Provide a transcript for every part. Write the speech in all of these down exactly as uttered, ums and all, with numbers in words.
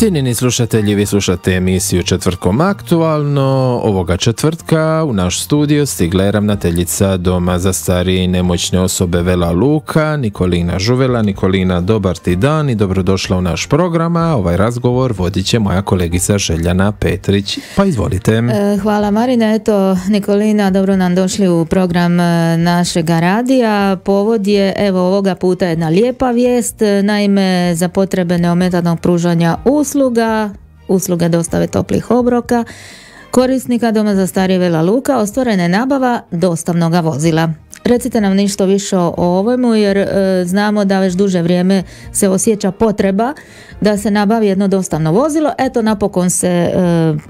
Cijenjeni slušatelji, vi slušate emisiju Četvrtkom aktualno. Ovoga četvrtka u naš studio stigla je ravnateljica Doma za starije i nemoćne osobe Vela Luka, Nikolina Žuvela. Nikolina, dobar ti dan i dobrodošla u naš program. Ovaj razgovor vodit će moja kolegica Željana Petrić. Pa izvolite. Hvala Marina. Eto, Nikolina, dobro nam došli u program našega radija. Povod je, evo, ovoga puta jedna lijepa vijest. Naime, za potrebe neometanog pružanja usluga, usluge dostave toplih obroka, korisnika Doma za starije Vela Luka ostvarena je nabava dostavnoga vozila. Recite nam nešto više o ovome, jer e, znamo da već duže vrijeme se osjeća potreba da se nabavi jedno dostavno vozilo. Eto, napokon se e,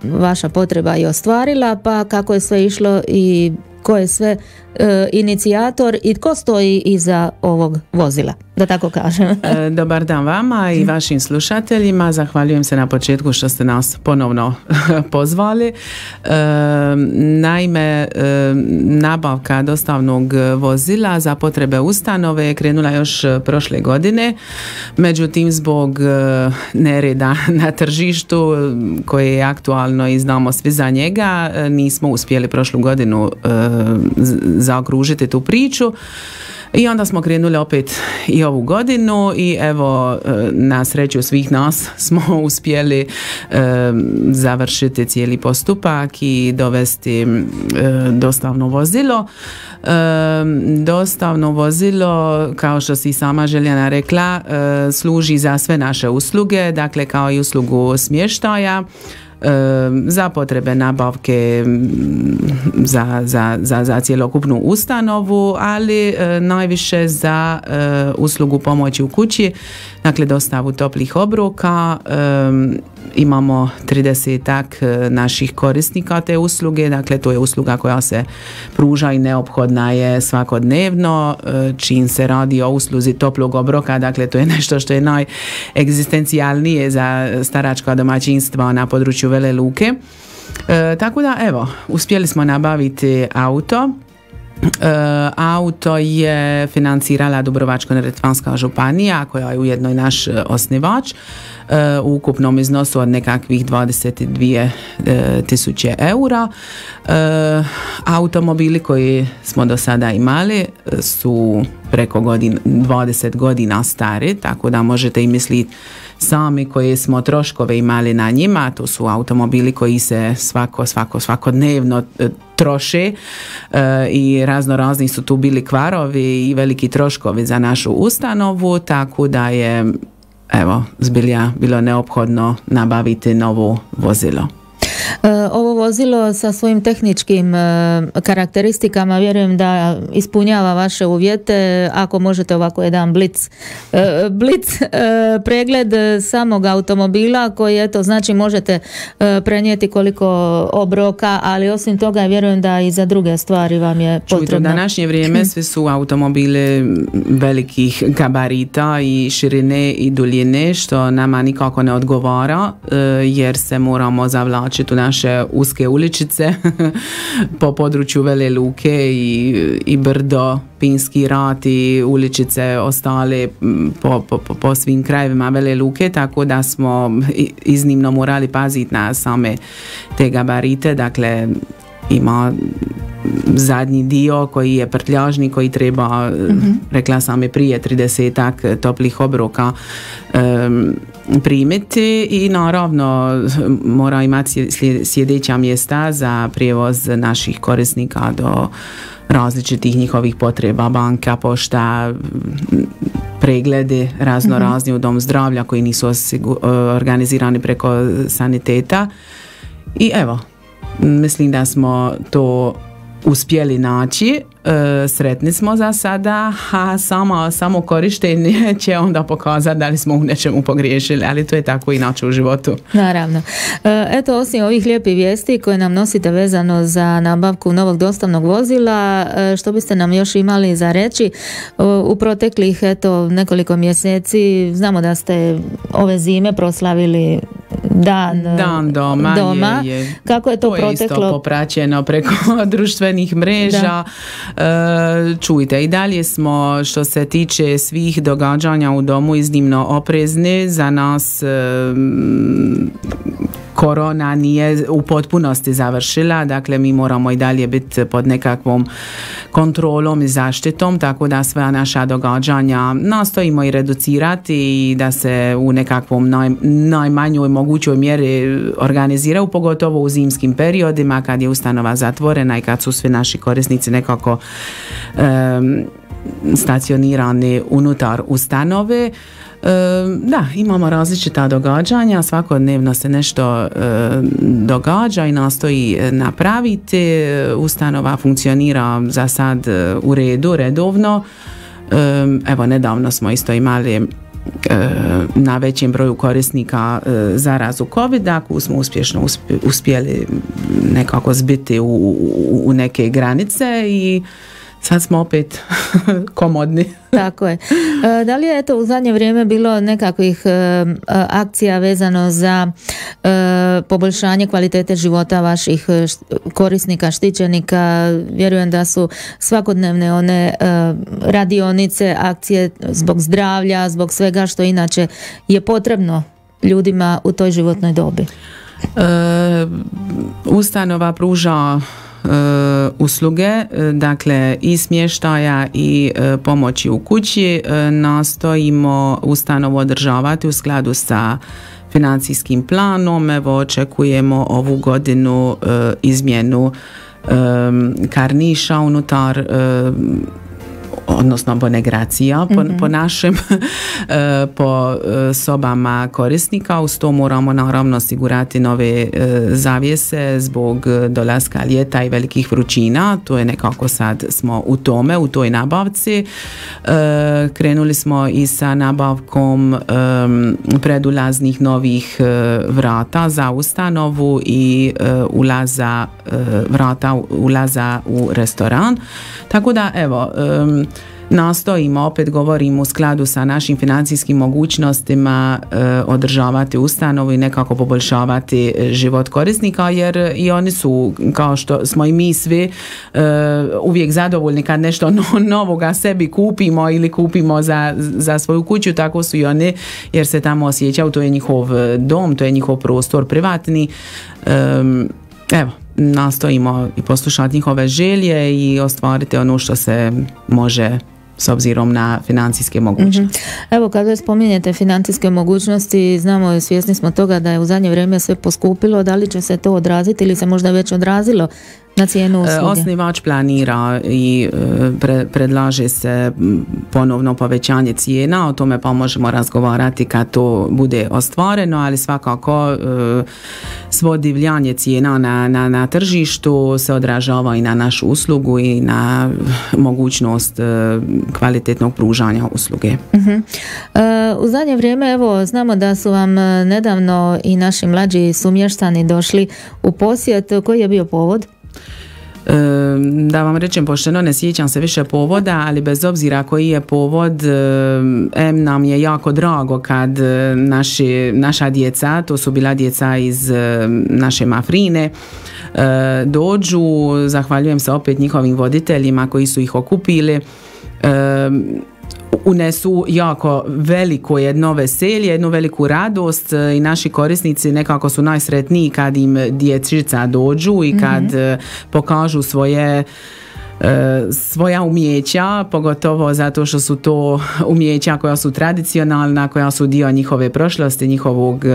vaša potreba i ostvarila, pa kako je sve išlo i ko je sve e, inicijator i tko stoji iza ovog vozila, da tako kažem. E, dobar dan vama i vašim slušateljima. Zahvaljujem se na početku što ste nas ponovno pozvali. E, naime, e, nabavka dostavnog vozila za potrebe ustanove je krenula još prošle godine. Međutim, zbog nereda na tržištu koje je aktualno i znamo svi za njega, nismo uspjeli prošlu godinu e, zaokružiti tu priču i onda smo krenuli opet i ovu godinu i evo, na sreću svih nas smo uspjeli e, završiti cijeli postupak i dovesti e, dostavno vozilo. E, dostavno vozilo, kao što si sama Željana rekla, e, služi za sve naše usluge, dakle kao i uslugu smještaja, za potrebe nabavke za, za, za, za cjelokupnu ustanovu, ali e, najviše za e, uslugu pomoći u kući, dakle dostavu toplih obroka. E, imamo tridesetak naših korisnika te usluge, dakle to je usluga koja se pruža i neophodna je svakodnevno, e, čim se radi o usluzi toplog obroka, dakle to je nešto što je najegzistencijalnije za staračka domaćinstva na području Vele Luke. E, tako da evo, uspjeli smo nabaviti auto. E, auto je financirala Dubrovačko-neretvanska županija, koja je ujedno i naš osnivač, e, u ukupnom iznosu od nekakvih dvadeset dvije tisuće eura. E, automobili koji smo do sada imali su preko godin, dvadeset godina stari, tako da možete i misliti sami koje smo troškove imali na njima. To su automobili koji se svako, svako, svakodnevno e, troše e, i razno razni su tu bili kvarovi i veliki troškovi za našu ustanovu, tako da je evo zbilja bilo neophodno nabaviti novo vozilo. Ovo vozilo sa svojim tehničkim karakteristikama vjerujem da ispunjava vaše uvjete. Ako možete ovako jedan blic, blic pregled samog automobila koji eto znači možete prenijeti koliko obroka, ali osim toga vjerujem da i za druge stvari vam je potrebno. Čujte, u današnje vrijeme svi su automobili velikih gabarita i širine i duljine, što nama nikako ne odgovara, jer se moramo zavlačiti u naše uske uličice po području Vele Luke i, i brdo, Pinski rat i uličice ostale po, po, po svim krajevima Vele Luke, tako da smo iznimno morali paziti na same te gabarite. Dakle, ima zadnji dio koji je prtljažni, koji treba, mm-hmm. rekla sam i prije, tridesetak toplih obroka um, primiti i naravno mora imati sjedeća mjesta za prijevoz naših korisnika do različitih njihovih potreba, banka, pošta, preglede razno razni u dom zdravlja koji nisu osigur- organizirani preko saniteta. I evo, mislim da smo to uspjeli naći, e, sretni smo za sada, a samo, samo korištenje će onda pokazati da li smo u nečemu pogriješili, ali to je tako inače u životu. Naravno. E, eto, osim ovih lijepih vijesti koje nam nosite vezano za nabavku novog dostavnog vozila, e, što biste nam još imali za reći? E, u proteklih eto, nekoliko mjeseci znamo da ste ove zime proslavili dan, dan doma, doma. Je, je, kako je to, to proteklo? Je isto popraćeno preko društvenih mreža. Da. Čujte, i dalje smo što se tiče svih događanja u domu iznimno oprezni. Za nas korona nije u potpunosti završila, dakle mi moramo i dalje biti pod nekakvom kontrolom i zaštitom, tako da sva naša događanja nastojimo i reducirati i da se u nekakvom naj, najmanjoj mogućoj mjeri organiziraju, pogotovo u zimskim periodima kad je ustanova zatvorena i kad su svi naši korisnici nekako um, stacionirani unutar ustanove. Da, imamo različita događanja, svakodnevno se nešto događa i nastoji napraviti. Ustanova funkcionira za sad u redu, redovno. Evo, nedavno smo isto imali na većem broju korisnika zarazu covida, koju smo uspješno uspjeli nekako zbiti u, u, u neke granice i sad smo opet komodni. Tako je. E, da li je eto u zadnje vrijeme bilo nekakvih e, akcija vezano za e, poboljšanje kvalitete života vaših korisnika, štićenika? Vjerujem da su svakodnevne one e, radionice, akcije zbog zdravlja, zbog svega što inače je potrebno ljudima u toj životnoj dobi. E, ustanova pruža Uh, usluge, dakle i smještaja i uh, pomoći u kući. Uh, nastojimo ustanovu održavati u skladu sa financijskim planom. Evo, očekujemo ovu godinu uh, izmjenu um, karniša unutar uh, odnosno bonegracija po, mm-hmm. po našem po sobama korisnika. Uz to moramo naravno osigurati nove zavjese zbog dolaska ljeta i velikih vrućina. To je nekako sad smo u tome, u toj nabavci. Krenuli smo i sa nabavkom predulaznih novih vrata za ustanovu i ulaza vrata ulaza u restoran. Tako da evo, nastojimo, opet govorim, u skladu sa našim financijskim mogućnostima e, održavati ustanovu i nekako poboljšavati život korisnika, jer i oni su, kao što smo i mi svi, e, uvijek zadovoljni kad nešto no, novoga sebi kupimo ili kupimo za, za svoju kuću, tako su i oni, jer se tamo osjećaju, to je njihov dom, to je njihov prostor privatni. E, evo, nastojimo i poslušati njihove želje i ostvariti ono što se može s obzirom na financijske mogućnosti. Mm-hmm. Evo, kada spominjete financijske mogućnosti, znamo i svjesni smo toga da je u zadnje vrijeme sve poskupilo. Da li će se to odraziti ili se možda već odrazilo na cijenu usluge? Osnivač planira i pre, predlaže se ponovno povećanje cijena, o tome pa možemo razgovarati kad to bude ostvareno, ali svakako svo divljanje cijena na, na, na tržištu se odražava i na našu uslugu i na mogućnost kvalitetnog pružanja usluge. Uh-huh. Uh, u zadnje vrijeme, evo, znamo da su vam nedavno i naši mlađi sumještani došli u posjet. Koji je bio povod? Da vam rečem pošteno, ne sjećam se više povoda, ali bez obzira koji je povod, em nam je jako drago kad naši, naša djeca, to su bila djeca iz naše Mafrine, dođu. Zahvaljujem se opet njihovim voditeljima koji su ih okupili. Unesu jako veliko jedno veselje, jednu veliku radost i naši korisnici nekako su najsretniji kad im dječica dođu i kad mm-hmm. pokažu svoje svoja umjeća, pogotovo zato što su to umjeća koja su tradicionalna, koja su dio njihove prošlosti, njihovog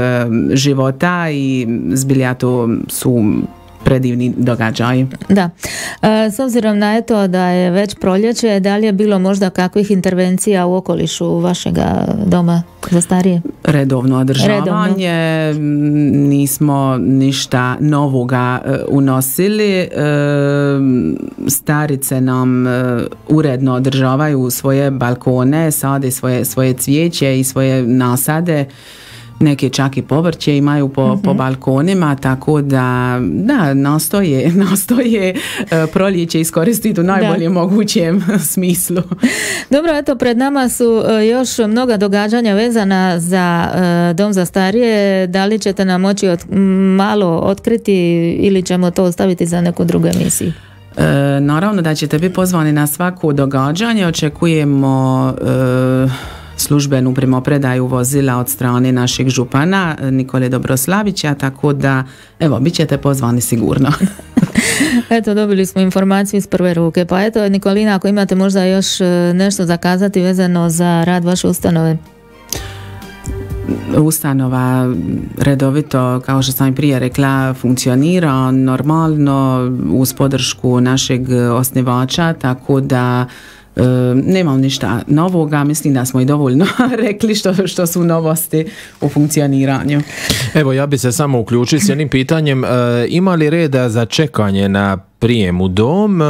života i zbilja to su predivni događaj. Da. E, s obzirom na eto da je već proljeće, da li je bilo možda kakvih intervencija u okolišu vašega doma za starije? Redovno održavanje. Redovno. Nismo ništa novoga unosili. Starice nam uredno održavaju svoje balkone, sade svoje, svoje cvijeće i svoje nasade. neke čak i povrće imaju po, mm-hmm. po balkonima, tako da da, nastoje, nastoje uh, proljeće iskoristiti u najboljem da. mogućem smislu. Dobro, eto, pred nama su uh, još mnoga događanja vezana za uh, Dom za starije. Da li ćete nam moći od, malo otkriti ili ćemo to ostaviti za neku drugu emisiju? E, naravno da ćete biti pozvani na svako događanje. Očekujemo e, službenu primopredaju vozila od strane našeg župana Nikole Dobroslavića, tako da evo, bit ćete pozvani sigurno. Eto, dobili smo informaciju iz prve ruke. Pa eto, Nikolina, ako imate možda još nešto za kazati vezano za rad vaše ustanove? Ustanova redovito, kao što sam i prije rekla, funkcionira normalno uz podršku našeg osnivača, tako da e, nemam ništa novoga, mislim da smo i dovoljno rekli što, što su novosti u funkcioniranju. Evo, ja bi se samo uključio s jednim pitanjem, e, ima li reda za čekanje na prijem u dom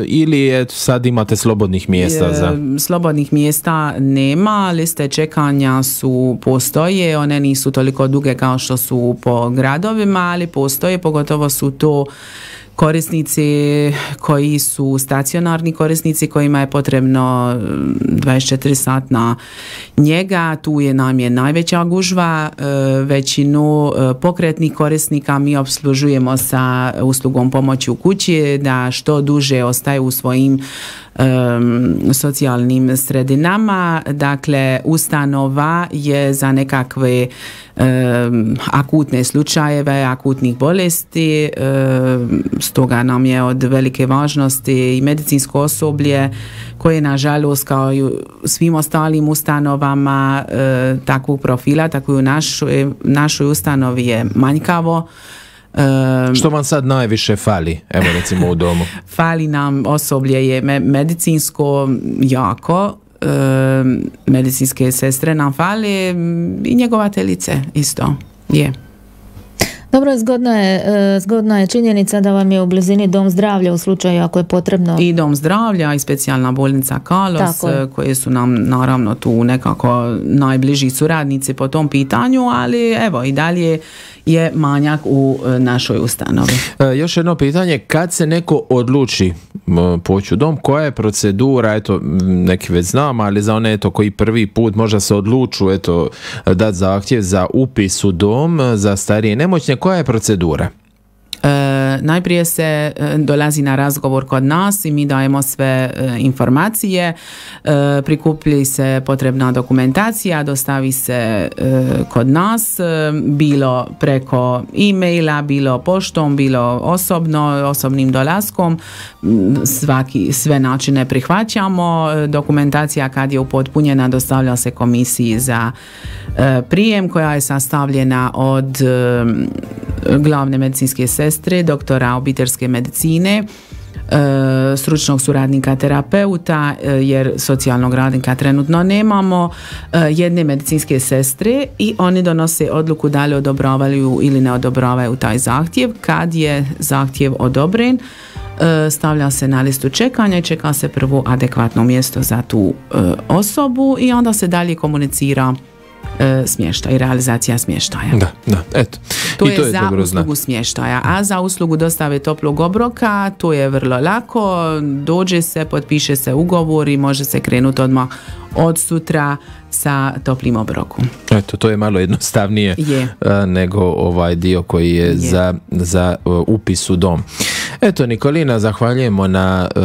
ili je, sad imate slobodnih mjesta? Za... Slobodnih mjesta nema, liste čekanja su postoje, one nisu toliko duge kao što su po gradovima, ali postoje, pogotovo su to korisnici koji su stacionarni korisnici kojima je potrebno dvadeset četiri satna njega, tu je nam je najveća gužva. Većinu pokretnih korisnika mi opslužujemo sa uslugom pomoći u kući, da što duže ostaju u svojim Um, socijalnim sredinama. Dakle, ustanova je za nekakve um, akutne slučajeve, akutnih bolesti, um, stoga nam je od velike važnosti i medicinsko osoblje koje nažalost kao i u svim ostalim ustanovama uh, takvog profila, tako i u našoj, našoj ustanovi je manjkavo. Um, Što vam sad najviše fali, evo recimo u domu? Fali nam osoblje je me, medicinsko jako, um, medicinske sestre nam fali i njegovateljice isto je. Dobro, zgodna je, zgodna je činjenica da vam je u blizini dom zdravlja u slučaju ako je potrebno. I dom zdravlja i specijalna bolnica Kalos, koje su nam naravno tu nekako najbliži suradnici po tom pitanju, ali evo i dalje je manjak u našoj ustanovi. E, još jedno pitanje, kad se neko odluči poći u dom, koja je procedura, eto, neki već znam, ali za one eto, koji prvi put možda se odluču eto, dati zahtjev za upis u dom za starije i nemoćne, koja je procedura? E, najprije se e, dolazi na razgovor kod nas i mi dajemo sve e, informacije, e, prikuplji se potrebna dokumentacija, dostavi se e, kod nas, e, bilo preko e-maila, bilo poštom, bilo osobno, osobnim dolaskom, svaki, sve načine prihvaćamo. Dokumentacija kad je upotpunjena dostavlja se komisiji za e, prijem koja je sastavljena od e, glavne medicinske sestre, doktora obiteljske medicine, e, stručnog suradnika terapeuta, e, jer socijalnog radnika trenutno nemamo, e, jedne medicinske sestre i oni donose odluku da li odobravaju ili ne odobravaju taj zahtjev. Kad je zahtjev odobren, e, stavlja se na listu čekanja i čeka se prvo adekvatno mjesto za tu e, osobu i onda se dalje komunicira smještaj, realizacija smještaja. Da, da, eto. To I je, to je za dobro uslugu zna. smještaja, a za uslugu dostave toplog obroka to je vrlo lako, dođe se, potpiše se ugovor i može se krenuti odmah od sutra sa toplim obrokom. Eto, to je malo jednostavnije je. nego ovaj dio koji je, je. za, za uh, upis u dom. Eto, Nikolina, zahvaljujemo na uh,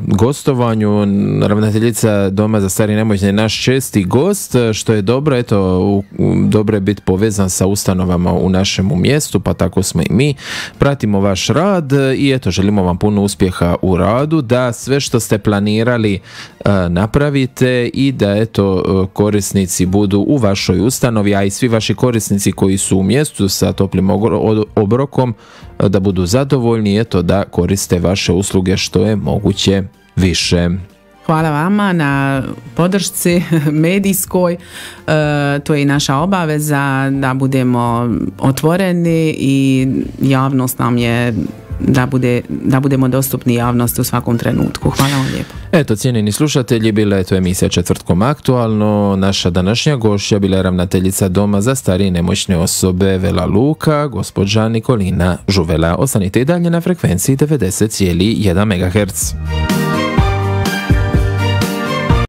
gostovanju. Ravnateljica Doma za starije i nemoćne je naš česti gost, što je dobro. Eto, u, u, dobro je biti povezan sa ustanovama u našemu mjestu, pa tako smo i mi. Pratimo vaš rad i eto, želimo vam puno uspjeha u radu, da sve što ste planirali uh, napravite i da eto, uh, korisnici budu u vašoj ustanovi, a i svi vaši korisnici koji su u mjestu sa toplim obrokom da budu zadovoljni, eto, da koriste vaše usluge što je moguće više. Hvala vama na podršci medijskoj, e, to je i naša obaveza da budemo otvoreni i javnost nam je da, bude, da budemo dostupni javnosti u svakom trenutku. Hvala vam lijepo. Eto, cijenjeni slušatelji, bila je to emisija Četvrtkom aktualno. Naša današnja gošća bila je ravnateljica Doma za starije i nemoćne osobe Vela Luka, gospođa Nikolina Žuvela. Ostanite i dalje na frekvenciji devedeset zarez jedan megaherca.